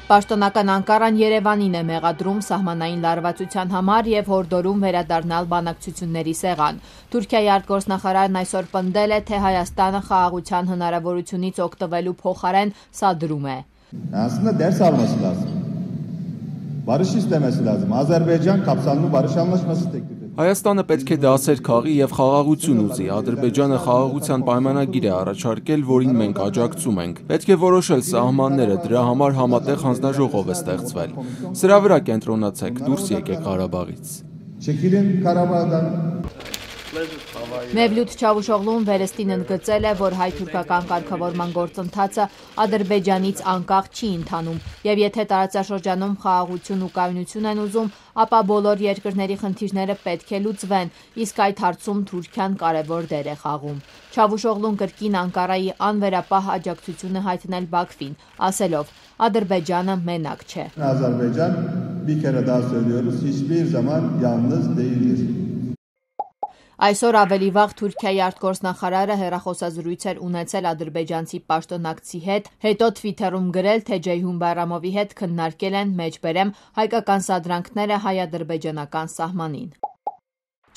Պաշտոնական Անկարան Երևանին է մեղադրում սահմանային լարվածության համար եւ հորդորում վերադառնալ բանակցությունների սեղան։ Թուրքիայի արտգործնախարարն այսօր պնդել է, թե Հայաստանը խաղաղության հնարավորությունից օգտվելու փոխարեն սադրում է։ Aslında ders alması lazım. Barış istemesi lazım. Azerbaycan kapsamlı barış anlaşması teklif ediyor. Հայաստանը պետք է դասեր քաղի եւ խաղաղություն ուզի։ Ադրբեջանը խաղաղության պայմանագիր է առաջարկել, որին մենք աջակցում ենք։ Պետք է որոշել սահմանները, դրա համար համատեղ հանձնաժողով է ստեղծվել։ Սրա վրա կենտրոնացեք, դուրս եկեք Ղարաբաղից։ Çekilin Karabağ'dan. Mevlut Çavuşoğlu'n վերստին ընդգծել է, որ հայ-թուրքական կարգավորման գործընթացը Ադրբեջանից անկախ չի ընթանում, եւ եթե տարածաշրջանում խաղաղություն ու կայունություն են ուզում, ապա բոլոր երկրների խնդիրները պետք է լուծվեն, իսկ այդ հարցում Թուրքիան կարևոր դեր է խաղում։ Çavuşoğlu'n կրկին Անկարայի անվերապահ աջակցություն է հայտնել Բաքվին, ասելով. Ադրբեջանը մենակ չէ։ Azerbaycan bir kere daha söylüyoruz, hiçbir zaman yalnız değildir. Այսօր ավելի վաղ Թուրքիայի արտգործնախարարը հեռախոսազրույց էր ունեցել ադրբեջանցի պաշտոնակցի հետ, հետո Թվիթերում գրել, թե Ceyhun Bayramovի հետ քննարկել են մեջբերեմ հայկական սադրանքները հայ-ադրբեջանական սահմանին։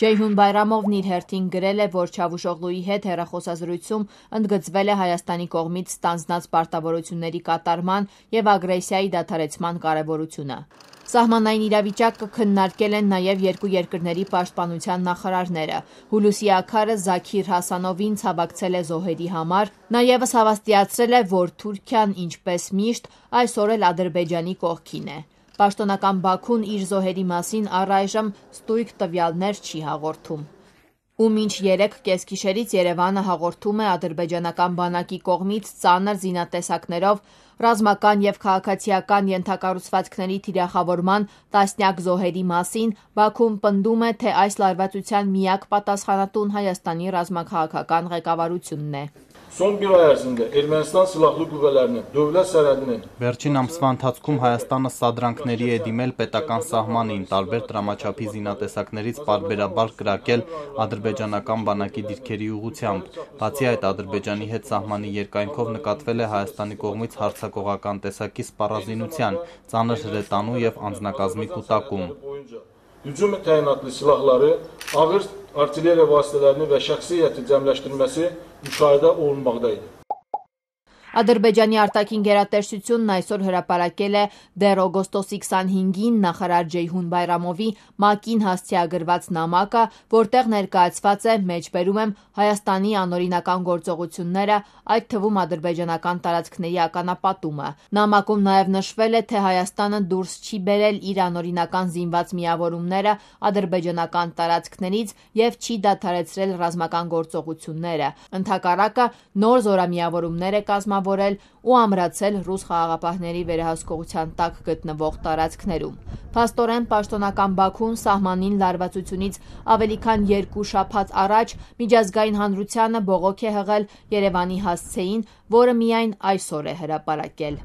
Ceyhun Bayramovն իր հերթին գրել է, որ Çavuşoğlu'ի հետ հեռախոսազրույցում ընդգծվել է Հայաստանի կողմից ստանձնած պարտավորությունների կատարման եւ ագրեսիայի դադարեցման կարեւորությունը։ Սահմանային իրավիճակը քննարկել են նաև երկու երկրների պաշտպանության նախարարները։ Հուլուսի Աքարը Զաքիր Հասանովին ցավակցել է զոհերի համար, նաև հավաստիացրել է, որ Թուրքիան, ինչպես միշտ, այսօր էլ Ադրբեջանի կողքին է։ Պաշտոնական Բաքուն իր զոհերի մասին առայժմ ստույգ տվյալներ չի հաղորդում։ Ու մինչ 3 կեսգիշերից Երևանը հաղորդում է ադրբեջանական բանակի կողմից ծանր զինատեսակներով ռազմական եւ քաղաքացիական ենթակառուցվածքների թիրախավորման տասնյակ զոհերի մասին, Բաքուն պնդում է, թե այս լարվածության միակ պատասխանատուն Հայաստանի ռազմաքաղաքական ղեկավարությունն է։ Son bir ay ərzində Ermənistan silahlı qüvvələrinin dövlət sərhədinin Վերջին ամսվա ընթացքում Հայաստանը սադրանքների է դիմել պետական սահմանին, տարբեր դրամաչափի զինատեսակներից պարբերաբար կրակել ադրբեջանական բանակի դիրքերի ուղղությամբ։ Բացի այդ, Ադրբեջանի հետ սահմանի երկայնքով նկատվել է Հայաստանի կողմից հարձակողական տեսակի սպառազինության, ծանր հրետանու եւ անձնակազմի կուտակում։ Hücum təyinatlı silahları, ağır artilleriya vasitələrini və şəxsi heyəti cəmləşdirməsi müşahidə olunmaqdaydı. Ադրբեջանի արտաքին գերատեսչությունն այսօր հրապարակել է դեռ օգոստոսի 25-ին նախարար Ceyhun Bayramovի ՄԱԿ-ին հասցեագրված նամակը, որտեղ ներկայացված է մեջբերում եմ Հայաստանի անօրինական գործողությունները, այդ թվում ադրբեջանական տարածքների ականապատումը։ Նամակում նաև նշվել է, թե Հայաստանը դուրս չի բերել իր անօրինական զինված միավորումները ադրբեջանական տարածքներից եւ չի դադարեցրել ռազմական գործողությունները։ Ընդհակառակը նոր զորամիավորումներ է կազմավորել ու ամրացել ռուս խաղաղապահների վերահսկողության տակ գտնվող տարածքներում։ Փաստորեն պաշտոնական Բաքուն սահմանին լարվածությունից ավելի քան 2 շաբաթ առաջ միջազգային հանրությանը բողոք է հղել Երևանի հասցեին, որը միայն այսօր է հրապարակել։